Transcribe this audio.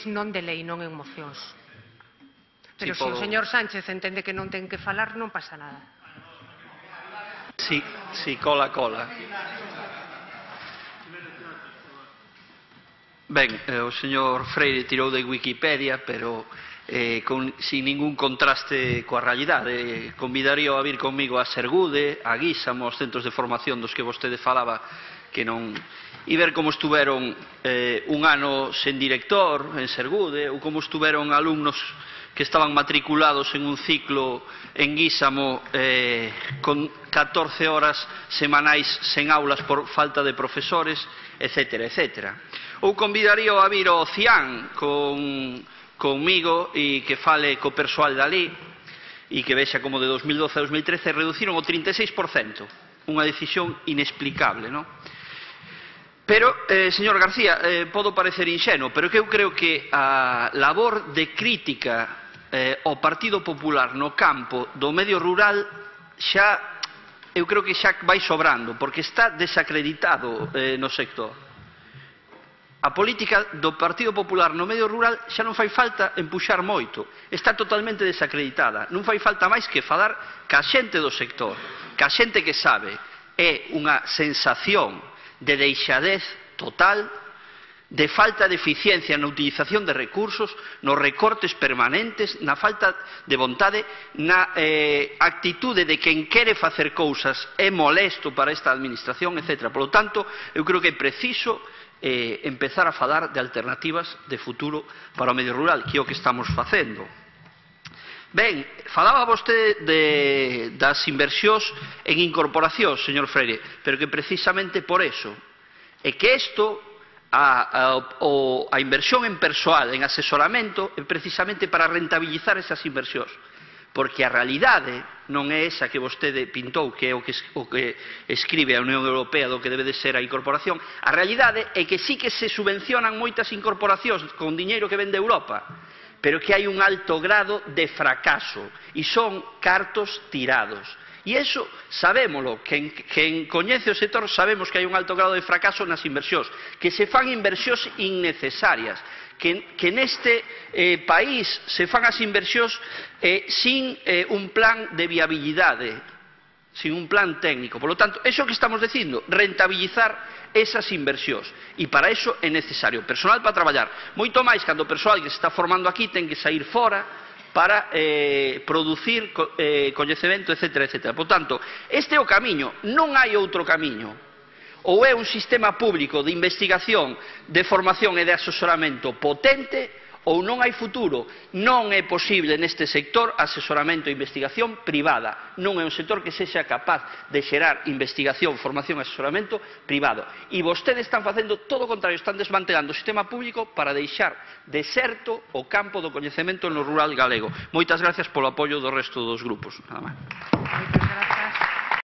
non de lei, non en mocións. Pero se o podo... señor Sánchez entende que non ten que falar, non pasa nada. Sí, cola. Ben, o señor Freire tirou de Wikipedia, pero sin ningún contraste coa realidade. Convidaría a vir comigo a Sergude, a Guísamo, aos centros de formación dos que vostede falaba, que non... e ver como estuveron un ano sen director en Sergude, ou como estuveron alumnos que estaban matriculados en un ciclo en Guísamo con 14 horas semanais sen aulas por falta de profesores, etc. Ou convidaría a vir ao CIAN comigo e que fale co persoal dali e que vexa como de 2012 a 2013 reduciron o 36%, unha decisión inexplicable, non? Pero, señor García, podo parecer inxenuo, pero que eu creo que a labor de crítica ao Partido Popular no campo do medio rural eu creo que xa vai sobrando, porque está desacreditado no sector. A política do Partido Popular no medio rural xa non fai falta empuxar moito, está totalmente desacreditada. Non fai falta máis que falar ca xente do sector, ca xente que sabe. É unha sensación de deixadez total, de falta de eficiencia na utilización de recursos, nos recortes permanentes, na falta de vontade, na actitude de quen quere facer cousas é molesto para esta administración, etc. Por lo tanto, eu creo que é preciso empezar a falar de alternativas de futuro para o medio rural, que é o que estamos facendo. Ben, falaba vostede das inversións en incorporacións, señor Freire, pero que precisamente por eso é que isto, a inversión en persoal, en asesoramento, é precisamente para rentabilizar esas inversións, porque a realidade non é esa que vostede pintou, que é o que escribe a Unión Europea do que debe de ser a incorporación. A realidade é que sí que se subvencionan moitas incorporacións con diñeiro que ven de Europa, pero que hai un alto grado de fracaso e son cartos tirados. E iso sabémolo, quen coñece o sector sabemos que hai un alto grado de fracaso nas inversións, que se fan inversións innecesarias, que neste país se fan as inversións sin un plan de viabilidade, sin un plan técnico. Por lo tanto, eso que estamos dicindo, rentabilizar esas inversións. E para iso é necesario personal para traballar. Moito máis cando o persoal que se está formando aquí ten que sair fora para producir coñecemento, etc. Por tanto, este é o camiño, non hai outro camiño. Ou é un sistema público de investigación, de formación e de asesoramento potente, ou non hai futuro. Non é posible neste sector asesoramento e investigación privada. Non é un sector que sexa capaz de xerar investigación, formación e asesoramento privado. E vostedes están facendo todo o contrario, están desmantelando o sistema público para deixar deserto o campo do coñecemento no rural galego. Moitas gracias polo apoio do resto dos grupos. Nada máis.